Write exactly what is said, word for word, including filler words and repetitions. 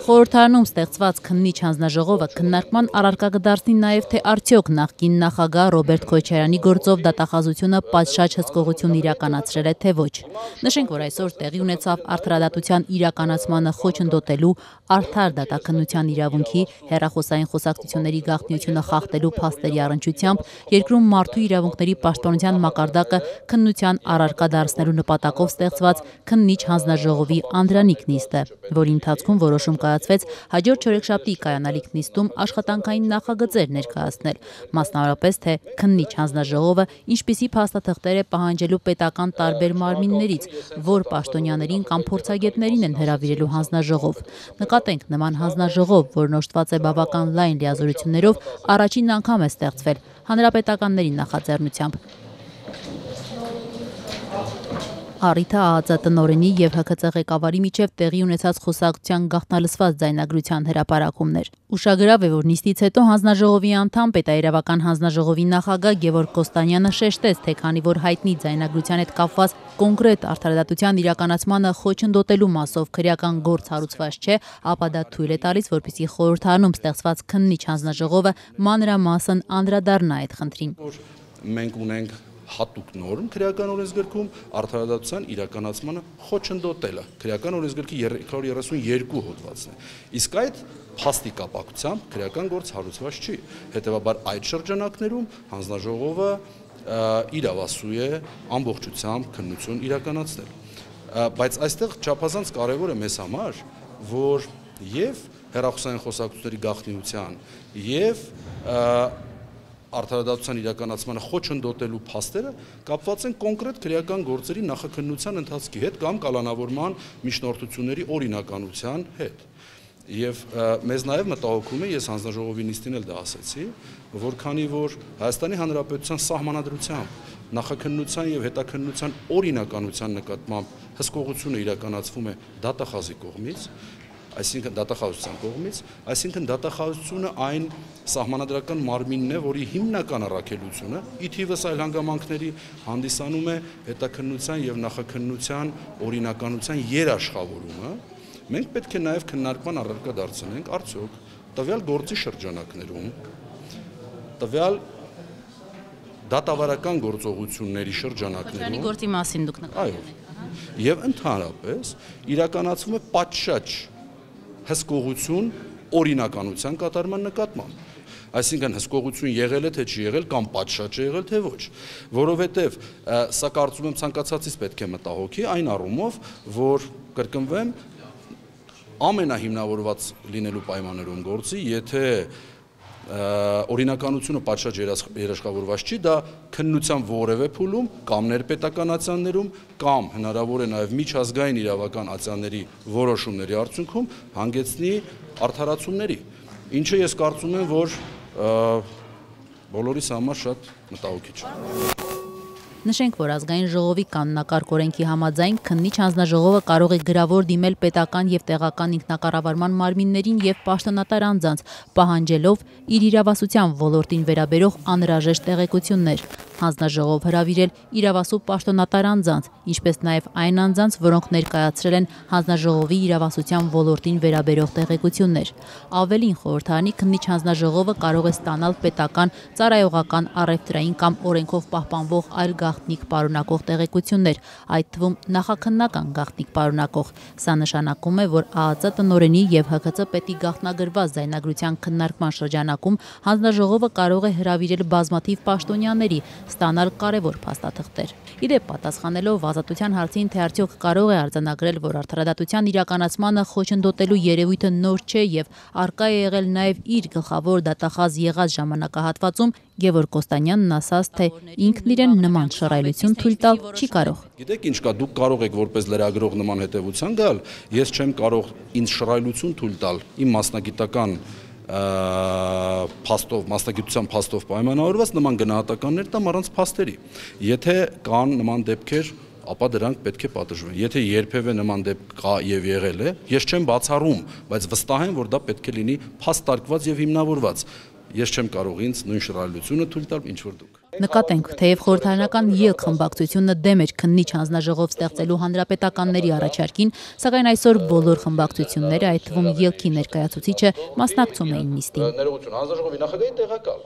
Խորհրդարանում ստեղծված քննիչ հանձնաժողովը քննարկման առարկա կդարձնի նաև թե արդյոք նախկին նախագահ Ռոբերտ Քոչարյանի գործով դատախազությունը պատշաճ հսկողություն իրականացրել է թե ոչ։ Նշենք, որ այսօր տեղի ունեցավ արդարադատության իրականացմանը խոչընդոտելու, արդար դատաքննության իրավունքի, հեռախոսային խոսակցությունների գաղտնիությունը խախտելու փաստերի առնչությամբ երկրում մարդու իրավունքների պաշտպանության մակարդակը քննության առարկա դարձնելու նպատակով ստեղծված քննիչ հանձնաժողովի անդրանիկ նիստը, որի ընթացքում որոշում կայացվեց հաջորդ չորեքշաբթի կայանալիք նիստում աշխատանքային նախագծեր ներկայացնել, մասնավորապես թե քննիչ հանձնաժողովը ինչպիսի փաստաթղթեր է պահանջելու պետական տարբեր մարմիններից, որ պաշտոնյաներին կամ փորձագետներին են հրավիրելու հանձնաժողով։ Նկատենք, նման հանձնաժողով, որն օժտված է բավական լայն լիազորություններով, առաջին անգամ է ստեղծվել հանրապետականների նախաձեռնությամբ։ Առիթը ԱԱԾ տնօրենի և Հ K Ծ ղեկավարի միջև տեղի ունեցած խոսակցության գաղտնալսված ձայնագրության հրապարակումներ։ Ուշագրավ է, որ նիստից հետո հանձնաժողովի անդամ պետաիրավական հանձնաժողովի նախագահ Գևորգ Կոստանյանը շեշտեց, թե քանի որ հայտնի ձայնագրության հետ կապված կոնկրետ արդարադատության իրականացմանը խոչընդոտելու մասով քրեական գործ հարուցված չէ, ապա դա թույլ է տալիս, որպեսզի խորհրդարանում ստեղծված քննիչ հանձնաժողովը մանրամասն անդրադառնա այդ խնդրին։ Մենք ունենք հատուկ նորմ քրեական օրենսգրքում արդարադատության իրականացմանը խոչընդոտելը քրեական օրենսգրքի երկու հարյուր երեսունյոթ հոդվածն է, իսկ այդ փաստի կապակցությամբ քրեական գործ հարուցված չի, հետևաբար այդ շրջանակներում հանձնաժողովը իրավասու է ամբողջությամբ քննություն իրականացնել, բայց այստեղ չափազանց կարևոր է մեզ համար, որ եւ հեռախոսային խոսակցությունների գաղտնիության եւ արդարադատության իրականացմանը խոչընդոտելու փաստերը կապված են կոնկրետ քրեական գործերի նախաքննության ընթացքի հետ կամ կալանավորման միջնորդությունների օրինականության հետ։ Եվ մեզ նաև մտահոգում է, ես հանձնաժողովի նիստին էլ դա ասեցի, որ քանի որ Հայաստանի Հանրապետության սահմանադրությամբ նախաքննության եւ հետաքննության օրինականության նկատմամբ հսկողությունը իրականացվում է դատախազի կողմից, այսինքն դատախազության կողմից, այսինքն դատախազությունը այն սահմանադրական մարմինն է, որի հիմնական առաքելությունը ի թիվս այլ հանգամանքների հանդիսանում է հետաքննության եւ նախաքննության օրինականության երաշխավորումը, մենք պետք է նաեւ քննարկման առարկա դարձնենք արդյոք տվյալ գործի շրջանակներում, տվյալ դատավարական գործողությունների շրջանակներում գործի մասին դուք նկատում եք։ Եվ ընդհանրապես իրականացվում է պատշաճ հսկողություն օրինականության կատարման նկատմամբ։ Այսինքն հսկողություն եղել է թե չի եղել կամ պատշաճ է եղել թե ոչ, որովհետև սա կարծում եմ ցանկացածից պետք է մտահոգի այն առումով, որ կրկնվեմ ամենահիմնավորված լինելու պայմաններում գործի, եթե օրինականությունը պատշաճ երաշխավորված չի, դա քննության որևէ փուլում կամ ներպետական ացիաներում կամ հնարավոր է նաև միջազգային իրավական ացիաների որոշումների արդյունքում հանգեցնի արդարացումների, ինչը ես կարծում եմ, որ բոլորիս համար շատ մտահոգիչ է։ Նշենք, որ ազգային ժողովի կանոնակարգ օրենքի համաձայն քննիչ հանձնաժողովը կարող է գրավոր դիմել պետական եւ տեղական ինքնակառավարման մարմիններին եւ պաշտոնատար անձանց, պահանջելով իր իրավասության ոլորտին վերաբերող անհրաժեշտ տեղեկություններ, հանձնաժողով հրավիրել իրավասու պաշտոնատար անձանց, ինչպես նաև այն անձանց, որոնք ներկայացրել են հանձնաժողովի իրավասության ոլորտին վերաբերող տեղեկություններ։ Ավելին, խորհրդարանի քննիչ հանձնաժողովը կարող է ստանալ պետական, ծառայողական, առևտրային կամ օրենքով պահպանվող այլ գաղտնիք պարունակող տեղեկություններ, այդ թվում նախաքննական գաղտնիք պարունակող։ Սա նշանակում է, որ ԱԱԾ տնօրենի եւ Հ K Ծ պետի գաղտնագրված ձայնագրության քննարկման շրջանակում հանձնաժողովը կարող է հրավիրել բազմաթիվ պաշտոնյաների, ստանալ կարևոր փաստաթղթեր։ Իդեպ, պատասխանելով ազատության հարցին, թե արդյոք կարող է արձանագրել, որ արդարադատության իրականացմանը խոչընդոտելու երևույթը նոր չէ եւ առկա է եղել նաեւ իր գլխավոր դատախազ եղած ժամանակահատվածում, Գևորգ Կոստանյանն ասաց, թե ինքն իրեն նման շռայլություն թույլ տալ չի կարող։ Գիտեք ինչ կա, դուք կարող եք որպես լրագրող նման հետևության գալ, ես չեմ կարող ինձ շռայլություն թույլ տալ իմ մասնագիտական փաստով, մասնագիտության փաստով պայմանավորված նման գնահատականներ տամ առանց փաստերի։ Եթե կան նման դեպքեր, ապա դրանք պետք է պատժվեն։ Եթե երբևէ նման դեպք կա եւ եղել է, ես չեմ բացառում, բայց վստահ եմ, որ դա պետք է լինի փաստարկված եւ հիմնավորված։ Ես չեմ կարող ինձ նույն շռայլությունը թույլ տալ, ինչ որ դուք։ Նկատենք, թեև խորհրդարանական ԵԼՔ խմբակցությունը դեմ էր քննիչ հանձնաժողով ստեղծելու հանրապետականների առաջարկին, սակայն այսօր բոլոր խմբակցությունները, այդ թվում ԵԼՔ-ի ներկայացուցիչը, մասնակցում էին նիստին։ Ներողություն, հանձնաժողովի նախագահի տեղակալ